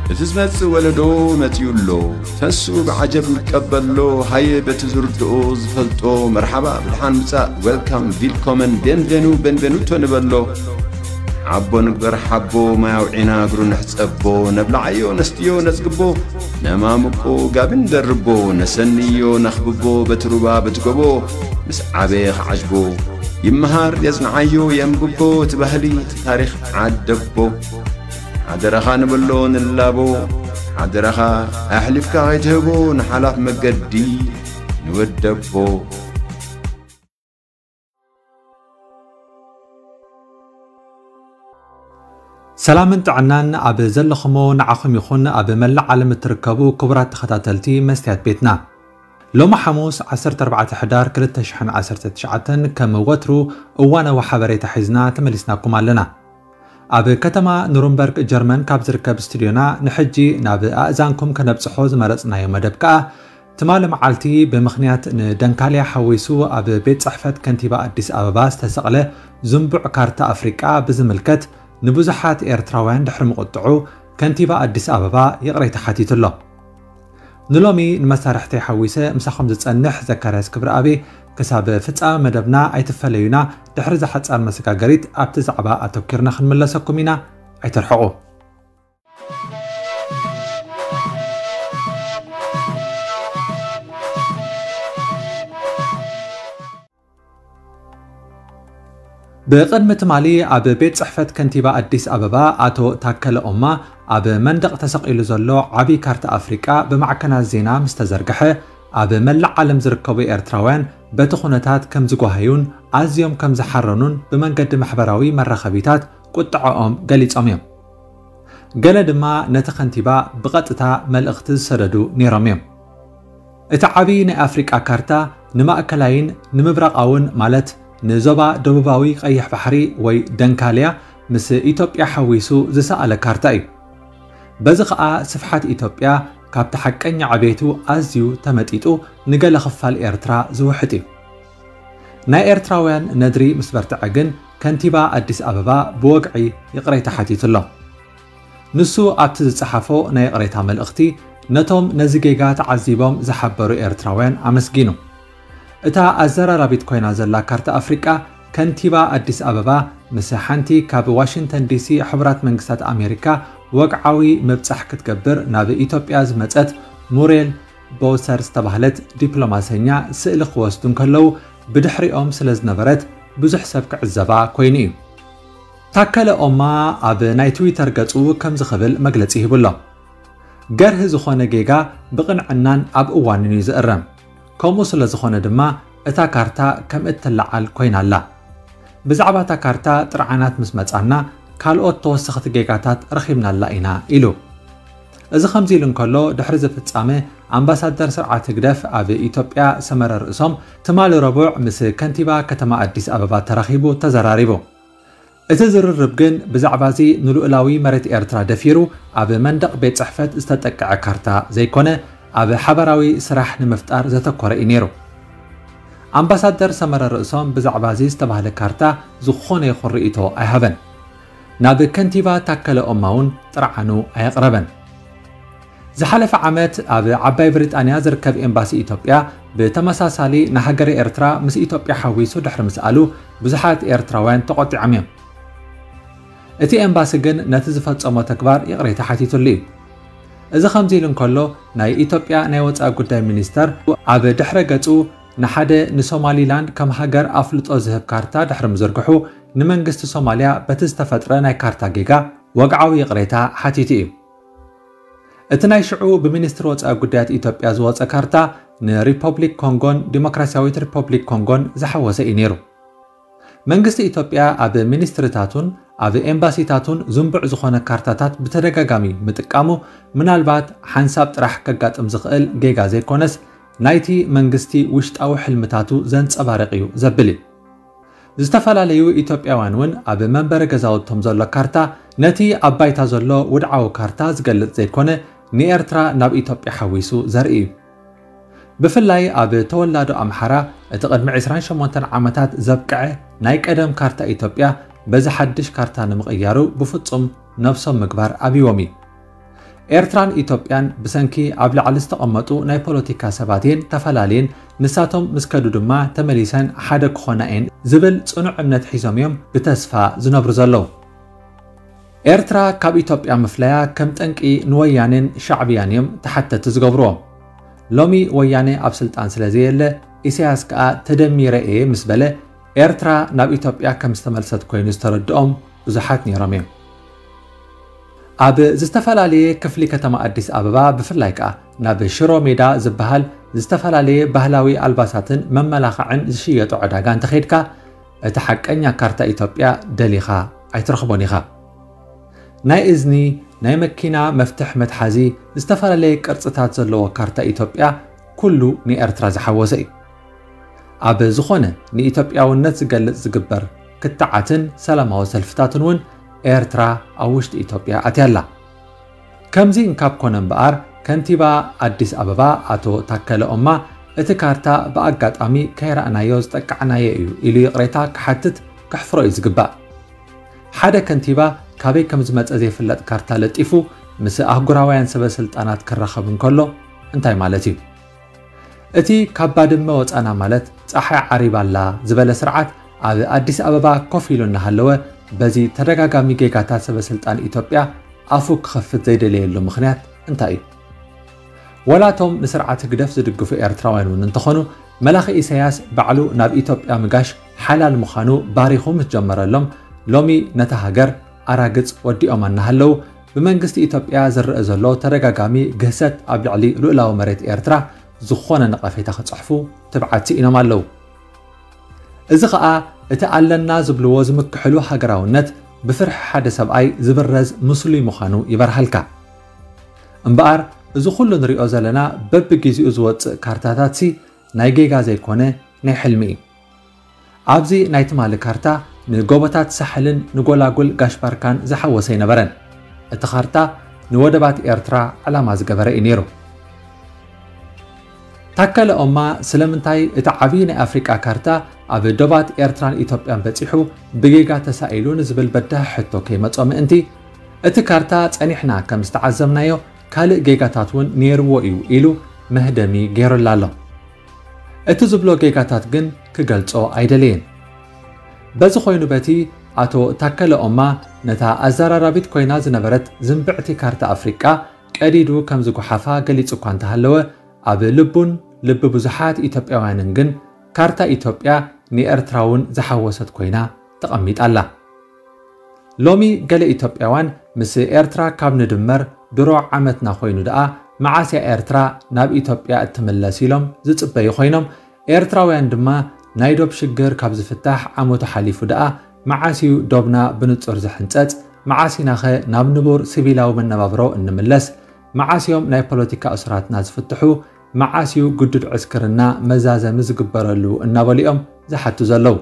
እቲ ዝመጽእ ወለዶ መጺኡ ኣሎ። ተሱ ብዓጀብ ይቀበሎ። ሃየ በቲ ዝርድኦ ዝፈልጦ መርሓባ ብድሓን ምጻእ፣ ዌልካም፣ ቪልኮመን፣ ቤንቬኑ፣ ቤንቬኑቶ ንበሎ። ሓቦ ንግበር ሓቦ፣ ማይ ኣውዒና እግሩ ንሕጸቦ። ነብልዓዮ ነስትዮ ነጽግቦ፣ ነማምቆ ጋቢ ንደርቦ። ነሰንዮ ነኽብቦ በቲ ሩባ በቲ ጎቦ፣ ምስ ዓበየ ክዓጅቦ። ይመሃር የጽንዓዮ የንብቦ፣ እቲ ባህሊ እቲ ታሪኽ ዓደቦ። ሓደራኻ ንብሎ ንላቦ፣ ሓደራኻ ኣሕሊፍካ ከይትህቦ ንሓላፍ መገዲ ንወደቦ። ሰላምን ጥዕናን ኣብ ዘለኹሞ ንዓኹም ይኹን፣ ኣብ መላእ ዓለም እትርከቡ ክቡራት ተኸታተልቲ መስትያት ቤትና። ሎሚ ሓሙስ ዓሰርተ ኣርባዕተ ሕዳር ክልተ ሽሕን ዓሰርተ ትሽዓተን ከም ወትሩ እዋናዊ ሓበሬታ ሒዝና ተመሊስናኩም ኣለና። ኣብ ከተማ ኑርንበርግ ጀርመን ካብ ዝርከብ ስቱድዮና ንሕጂ ናብ ኣእዛንኩም ከነብጽሖ ዝመረጽናዮ መደብ ከኣ ትማሊ መዓልቲ ብምኽንያት ንደንካልያ ሓዊሱ ኣብ ቤት ጽሕፈት ከንቲባ ኣዲስ ኣበባ ዝተሰቕለ ዝንቡዕ ካርታ ኣፍሪቃ ብዝምልከት ንብዙሓት ኤርትራውያን ድሕሪ ምቕጥዑ ከንቲባ ኣዲስ ኣበባ ይቕሬታ ሓቲቱ ኣሎ። ንሎሚ ንመሳርሕተይ ሓዊሰ ምሳኹም ዝጸንሕ ዘካርያስ ክብረኣብ። ክሳብ ፍጻመ መደብና ኣይትፈለዩና። ድሕሪ እዛ ሓጻር መሰጋገሪት ኣብቲ ዛዕባ ኣተኲርና ክንምለሰኩም ኢና። ኣይትርሕቑ። ብቕድሚ ትማሊ ኣብ ቤት ጽሕፈት ከንቲባ ኣዲስ ኣበባ ኣቶ ታከለ ኦማ ኣብ መንደቕ ተሰቒሉ ዘሎ ዓቢ ካርታ ኣፍሪቃ ብማዕከናት ዜና ምስ ተዘርግሐ፣ ኣብ መላእ ዓለም ዝርከቡ ኤርትራውያን በቲ ኩነታት ከም ዝጓሃዩን ኣዝዮም ከም ዝሓረኑን ብመንገዲ ማሕበራዊ መራኸቢታት ቁጥዐኦም ገሊጾም እዮም። ገለ ድማ ነቲ ከንቲባ ብቐጥታ መልእኽቲ ዝሰደዱ ነይሮም እዮም። እቲ ዓቢ ናይ ኣፍሪቃ ካርታ ንማእከላይን ንምብራቓውን፣ ማለት ንዞባ ደቡባዊ ቀይሕ ባሕሪ ወይ ደንካልያ ምስ ኢትዮጵያ ሓዊሱ ዝሰኣለ ካርታ እዩ። በዚ ኸኣ ስፍሓት ኢትዮጵያ ካብቲ ሓቀኛ ዕቤቱ ኣዝዩ ተመጢጡ ንገለ ክፋል ኤርትራ ዝውሕጥ እዩ። ናይ ኤርትራውያን ነድሪ ምስ በርትዐ ግን ከንቲባ ኣዲስ ኣበባ ብወግዒ ይቕሬታ ሓቲቱ ኣሎ። ንሱ ኣብቲ ዝጸሓፎ ናይ ይቕሬታ መልእኽቲ ነቶም ነዚ ጌጋ ተዓዚቦም ዝሓበሩ ኤርትራውያን ኣመስጊኑ። እታ ኣዘራራቢት ኮይና ዘላ ካርታ ኣፍሪቃ ከንቲባ ኣዲስ ኣበባ ምስ ሓንቲ ካብ ዋሽንግተን ዲሲ ሕቡራት መንግስታት ኣሜሪካ ወግዓዊ ምብጻሕ ክትገብር ናብ ኢትዮጵያ ዝመጸት ሙሬል ቦውሰር ዝተባህለት ዲፕሎማሰኛ ስእሊ ክወስዱ እንከለዉ ብድሕሪኦም ስለ ዝነበረት ብዙሕ ሰብ ክዕዘባ ኮይኑ እዩ። ታከለ ኦማ ኣብ ናይ ትዊተር ገጹ ከምዚ ክብል መግለጺ ሂቡ ኣሎ። ገርሂ ዝኾነ ጌጋ ብቕንዕናን ኣብ እዋኑን እዩ ዝእረም። ከምኡ ስለ ዝኾነ ድማ እታ ካርታ ከም እትለዓል ኮይና ኣላ። ብዛዕባ እታ ካርታ ጥርዓናት ምስ መጻና ካልኦት ተወሰኽቲ ጌጋታት ረኺብናላ ኢና ኢሉ። እዚ ከምዚ ኢሉ እንከሎ ድሕሪ እዚ ፍጻመ ኣምባሳደር ስርዓት ህግደፍ ኣብ ኢትዮጵያ ሰመረ ርእሶም ትማሊ ረቡዕ ምስ ከንቲባ ከተማ ኣዲስ ኣበባ ተራኺቡ ተዘራሪቡ። እቲ ዝርርብ ግን ብዛዕባ እዚ ንልኡላዊ መሬት ኤርትራ ደፊሩ ኣብ መንደቕ ቤት ጽሕፈት ዝተጠቅዐ ካርታ ዘይኮነ ኣብ ሓበራዊ ስራሕ ንምፍጣር ዘተኮረ እዩ ነይሩ። ኣምባሳደር ሰመረ ርእሶም ብዛዕባ እዚ ዝተባህለ ካርታ ዝኾነ ይኹን ርእይቶ ኣይሃበን። ናብ ከንቲባ ታከለ ኦማ እውን ጥርዓኑ ኣየቕረበን። ዝሓለፈ ዓመት ኣብ ዓባይ ብሪጣንያ ዝርከብ ኤምባሲ ኢትዮጵያ ብተመሳሳሊ ንሃገረ ኤርትራ ምስ ኢትዮጵያ ሓዊሱ ድሕሪ ምስኣሉ ብዙሓት ኤርትራውያን ተቖጢዖም እዮም። እቲ ኤምባሲ ግን ነቲ ዝፈጸሞ ተግባር ይቕሬታ ሓቲቱሉ እዩ። እዚ ከምዚ ኢሉ እንከሎ ናይ ኢትዮጵያ ናይ ወጻኢ ጉዳይ ሚኒስተር ኣብ ድሕረ ገጹ ንሓደ ንሶማሊላንድ ከም ሃገር ኣፍልጦ ዝህብ ካርታ ድሕሪ ምዝርግሑ ንመንግስቲ ሶማልያ በቲ ዝተፈጥረ ናይ ካርታ ጌጋ ወግዓዊ ይቕሬታ ሓቲቱ እዩ። እቲ ናይ ሽዑ ብሚኒስትሪ ወጻኢ ጉዳያት ኢትዮጵያ ዝወጸ ካርታ ንሪፐብሊክ ኮንጎን ዲሞክራሲያዊት ሪፐብሊክ ኮንጎን ዝሓወሰ እዩ ነይሩ። መንግስቲ ኢትዮጵያ ኣብ ሚኒስትሪታቱን ኣብ ኤምባሲታቱን ዝንቡዕ ዝኾነ ካርታታት ብተደጋጋሚ ምጥቃሙ ምናልባት ሓንሳብ ጥራሕ ከጋጥም ዝኽእል ጌጋ ዘይኮነስ ናይቲ መንግስቲ ውሽጣዊ ሕልምታቱ ዘንጸባርቕ እዩ ዘብል እዩ። ዝተፈላለዩ ኢትዮጵያውያን እውን ኣብ መንበሪ ገዛውቶም ዘሎ ካርታ ነቲ ኣብ ባይታ ዘሎ ውድዓዊ ካርታ ዝገልጽ ዘይኮነ ንኤርትራ ናብ ኢትዮጵያ ሓዊሱ ዘርኢ እዩ። ብፍላይ ኣብ ተወላዶ ኣምሓራ እቲ ቅድሚ ዕስራን ሸሞንተን ዓመታት ዘብቅዐ ናይ ቀደም ካርታ ኢትዮጵያ በዚ ሓድሽ ካርታ ንምቕያሩ ብፍጹም ነብሶም ምግባር ኣብይዎም እዩ። ኤርትራን ኢትዮጵያን ብሰንኪ ኣብ ላዕሊ ዝተቐመጡ ናይ ፖለቲካ ሰባት እየን ተፈላለየን፣ ንሳቶም ምስ ከዱ ድማ ተመሊሰን ሓደ ክኾና እየን ዝብል ጽኑዕ እምነት ሒዞም እዮም ብተስፋ ዝነብሩ ዘለዉ። ኤርትራ ካብ ኢትዮጵያ ምፍላያ ከም ጠንቂ ንወያኔን ሻዕብያን እዮም ተሓተቲ ዝገብርዎ። ሎሚ ወያኔ ኣብ ስልጣን ስለ ዘየለ፣ ኢሳያስ ከኣ ተደሚረ እየ ምስ በለ፣ ኤርትራ ናብ ኢትዮጵያ ከም ዝተመልሰት ኮይኑ ዝተረድኦም ብዙሓት ነይሮም እዮም። ኣብ ዝተፈላለየ ክፍሊ ከተማ ኣዲስ ኣበባ፣ ብፍላይ ከኣ ናብ ሽሮ ሜዳ ዝበሃል ዝተፈላለየ ባህላዊ ኣልባሳትን መመላኽዕን ዝሽየጦ ዕዳጋ እንተኸይድካ፣ እቲ ሓቀኛ ካርታ ኢትዮጵያ ደሊኻ ኣይትረኽቦን ኢኻ። ናይ እዝኒ፣ ናይ መኪና መፍትሕ መትሓዚ፣ ዝተፈላለየ ቅርጽታት ዘለዎ ካርታ ኢትዮጵያ ኩሉ ንኤርትራ ዝሓወሰ እዩ። ኣብ ዝኾነ ንኢትዮጵያውነት ዝገልጽ ዝግበር ክትዓትን ሰላማዊ ሰልፍታትን እውን ኤርትራ ኣብ ውሽጢ ኢትዮጵያ ኣትያ ኣላ። ከምዚ እንካብ ኮነ እምበኣር፣ ከንቲባ ኣዲስ ኣበባ ኣቶ ታከለ ኦማ፣ እቲ ካርታ ብኣጋጣሚ ከይረኣናዮ ዝጠቃዕናዮ እዩ ኢሉ ይቕሬታ ክሓትት ከሕፍሮ እዩ ዝግባእ። ሓደ ከንቲባ ካበይ ከም ዝመጸ ዘይፍለጥ ካርታ ለጢፉ ምስ ኣህጉራውያን ሰበ ስልጣናት ክራኸብ እንከሎ እንታይ ማለት እዩ? እቲ ካብ ባድመ ወጻና ማለት ጸሓይ ዓሪባ ኣላ ዝበለ ስርዓት ኣብ ኣዲስ ኣበባ ኮፍ ኢሉ እናሃለወ፣ በዚ ተደጋጋሚ ጌጋታት ሰበ ስልጣን ኢትዮጵያ ኣፉ ክኸፍት ዘይደለየሉ ምኽንያት እንታይ እዩ? ወላቶም ንስርዓት ህግደፍ ዝድግፉ ኤርትራውያን እውን እንተኾኑ፣ መላኺ ኢሳያስ ባዕሉ ናብ ኢትዮጵያ ምጋሽ ሓላል ምዃኑ ባሪኹ ምስ ጀመረሎም፣ ሎሚ ነታ ሃገር ኣራግጽ ወዲኦማ እናሃለዉ፣ ብመንግስቲ ኢትዮጵያ ዝረአ ዘሎ ተደጋጋሚ ግህሰት ኣብ ልዕሊ ልኡላዊ መሬት ኤርትራ ዝኾነ ነቐፌታ ክጽሕፉ ትብዓት ስኢኖም ኣለዉ። እዚ ኸኣ እቲ ኣለና ዝብልዎ ዝምክሕሉ ሃገራውነት ብፍርሒ ሓደ ሰብኣይ ዝብረዝ ምስሉይ ምዃኑ ይበርሃልካ። እምበኣር፣ እዚ ኩሉ ንሪኦ ዘለና በብግዜኡ ዝወጽእ ካርታታትሲ ናይ ጌጋ ዘይኮነ ናይ ሕልሚ እዩ። ኣብዚ ናይ ትማሊ ካርታ ንጎቦታት ሳሕልን ንጎላጉል ጋሽ ባርካን ዝሓወሰ ኣይነበረን። እቲ ካርታ ንወደባት ኤርትራ ዕላማ ዝገበረ እዩ ነይሩ። ታከለ ኦማ ስለምንታይ እቲ ዓብዪ ናይ ኣፍሪቃ ካርታ ኣብ ዶባት ኤርትራን ኢትዮጵያን በጺሑ ብጌጋ ተሳኢሉ ንዝብል በዳሂ ሕቶ ከይመጾ ምእንቲ፣ እቲ ካርታ ጸኒሕና ከም ዝተዓዘብናዮ ካልእ ጌጋታት እውን ነይርዎ እዩ ኢሉ መህደሚ ገይሩላ ኣሎ። እቲ ዝብሎ ጌጋታት ግን ክገልጾ ኣይደለየን። በዚ ኮይኑ በቲ ኣቶ ታከለ ኦማ ነታ ኣዘራራቢት ኮይና ዝነበረት ዝንብዕቲ ካርታ ኣፍሪቃ ቀዲዱ ከም ዝጓሓፋ ገሊጹ እኳ እንተሃለወ፣ ኣብ ልቡን ልቢ ብዙሓት ኢትዮጵያውያንን ግን ካርታ ኢትዮጵያ ንኤርትራ እውን ዝሓወሰት ኮይና ተቐሚጣ ኣላ። ሎሚ ገለ ኢትዮጵያውያን ምስ ኤርትራ ካብ ንድመር ድሮ ዓመትና ኮይኑ ደኣ መዓስ እያ ኤርትራ ናብ ኢትዮጵያ እትምለስ ኢሎም ዝጽበዩ ኮይኖም፣ ኤርትራውያን ድማ ናይ ዶብ ሽግር ካብ ዝፍታሕ ዓመቱ ሓሊፉ ደኣ መዓስ እዩ ዶብና ብንጹር ዝሕንጸጽ? መዓስ ኢናኸ ናብ ንቡር ሲቪላዊ መነባብሮ እንምለስ? መዓስ እዮም ናይ ፖለቲካ እሱራትና ዝፍትሑ? መዓስ እዩ ግዱድ ዕስክርና መዛዘሚ ዝግበረሉ? እናበሉ እዮም ዝሓቱ ዘለዉ።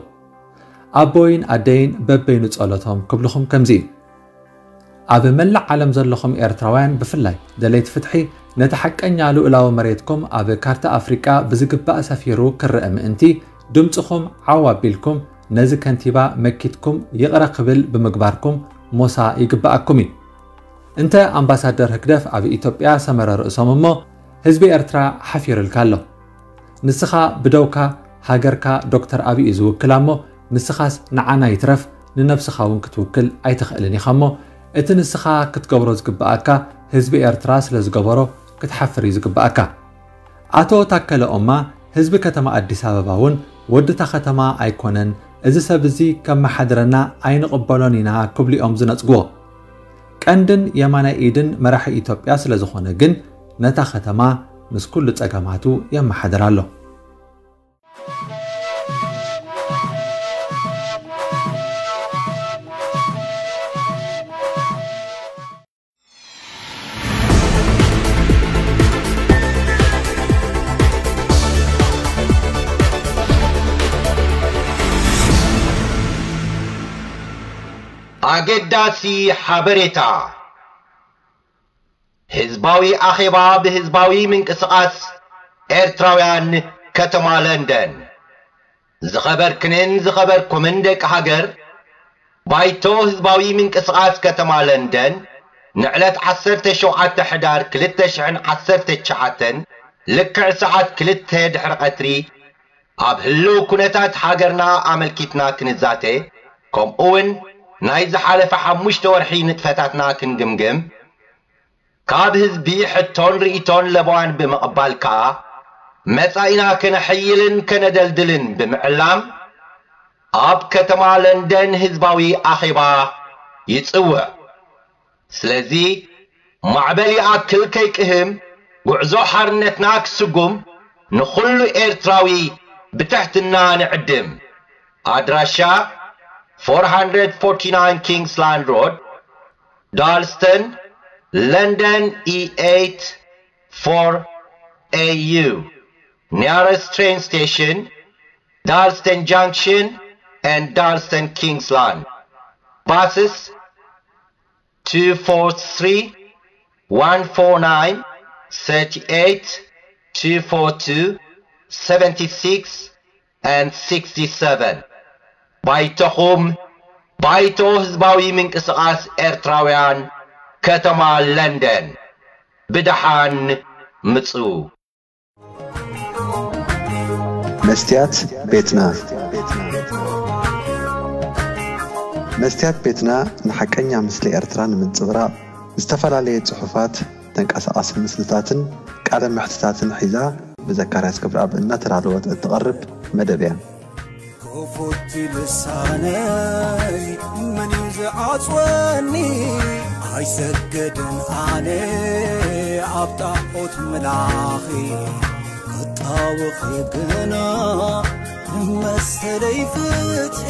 ኣቦይን ኣደይን በበይኑ ጸሎቶም ክብልኹም ከምዚ እዩ። ኣብ መላእ ዓለም ዘለኹም ኤርትራውያን ብፍላይ ደለይቲ ፍትሒ፣ ነቲ ሓቀኛ ልኡላዊ መሬትኩም ኣብ ካርታ ኣፍሪቃ ብዝግባእ ሰፊሩ ክረአ ምእንቲ፣ ድምጽኹም ዓው ኣቢልኩም ነዚ ከንቲባ መኪትኩም ይቕረ ክብል ብምግባርኩም ሞሳ ይግብኣኩም እዩ። እንተ ኣምባሳደር ህግደፍ ኣብ ኢትዮጵያ ሰመረ ርእሶም እሞ፣ ህዝቢ ኤርትራ ሓፊሩልካ ኣሎ። ንስኻ ብደውካ ሃገርካ ዶክተር ኣብይ እዩ ዝውክላ እሞ፣ ንስኻስ ንዓና ይትረፍ ንነብስኻ እውን ክትውክል ኣይትኽእልን ኢኻ እሞ፣ እቲ ንስኻ ክትገብሮ ዝግብኣካ ህዝቢ ኤርትራ ስለ ዝገበሮ ክትሓፍር እዩ ዝግብኣካ። ኣቶ ታከለ ኦማ ህዝቢ ከተማ ኣዲስ ኣበባ እውን ወድታ ከተማ ኣይኮነን፣ እዚ ሰብ እዚ ከመሓድረና ኣይንቕበሎን ኢና ክብሉ እዮም ዝነጽግዎ። ቀንድን የማናይ ኢድን መራሒ ኢትዮጵያ ስለ ዝኾነ ግን ነታ ከተማ ምስ ኩሉ ጸገማቱ የመሓድራ ኣሎ። ኣገዳሲ ሓበሬታ። ህዝባዊ ኣኼባ ብህዝባዊ ምንቅስቓስ ኤርትራውያን ከተማ ለንደን። ዝኸበርክንን ዝኸበርኩምን ደቂ ሃገር፣ ባይቶ ህዝባዊ ምንቅስቓስ ከተማ ለንደን ንዕለት ዓሰርተ ሸውዓተ ሕዳር ክልተ ሽሕን ዓሰርተ ትሽዓተን ልክዕ ሰዓት ክልተ ድሕሪ ቀትሪ ኣብ ህልው ኩነታት ሃገርና ኣመልኪትና ክንዛተ፣ ከምኡ እውን ናይ ዝሓለፈ ሓሙሽተ ወርሒ ንጥፈታትና ክንግምግም፣ ካብ ህዝቢ ሕቶን ርእይቶን ለበዋን ብምቕባል ከኣ መጻኢና ከነሐይልን ከነደልድልን ብምዕላም ኣብ ከተማ ለንደን ህዝባዊ ኣኼባ ይጽውዕ። ስለዚ ማዕበል ይኣክል ከይቅህም፣ ጉዕዞ ሓርነትና ክስጉም ንኹሉ ኤርትራዊ ብትሕትና ንዕድም። ኣድራሻ፣ four hundred forty-nine Kingsland Road, Dalston, London E eight four A U. Nearest train station, Dalston Junction and Dalston Kingsland. Buses, two four three, one four nine, thirty-eight, two four two, seventy-six, and sixty-seven. ባይቶኹም፣ ባይቶ ህዝባዊ ምንቅስቓስ ኤርትራውያን፣ ከተማ ለንደን። ብደሓን ምጹ። መስትያት ቤትና። መስትያት ቤትና ንሓቀኛ ምስሊ ኤርትራ ንምንጽብራቕ ዝተፈላለየ ጽሑፋት፣ ተንቀሳቓሲ ምስልታትን ቃለ መሕትታትን ሒዛ ብዘካርያስ ክብረኣብ እናተዳለወት እትቐርብ መደብ እያ። ክፉት ልሳነይ መን እዩ ዝዓጽወኒ? ኣይሰገድን ኣነ ኣብ ጣዖት ምላኺ፣ ክጣወኺ ግና መሰለይ ፍትሒ።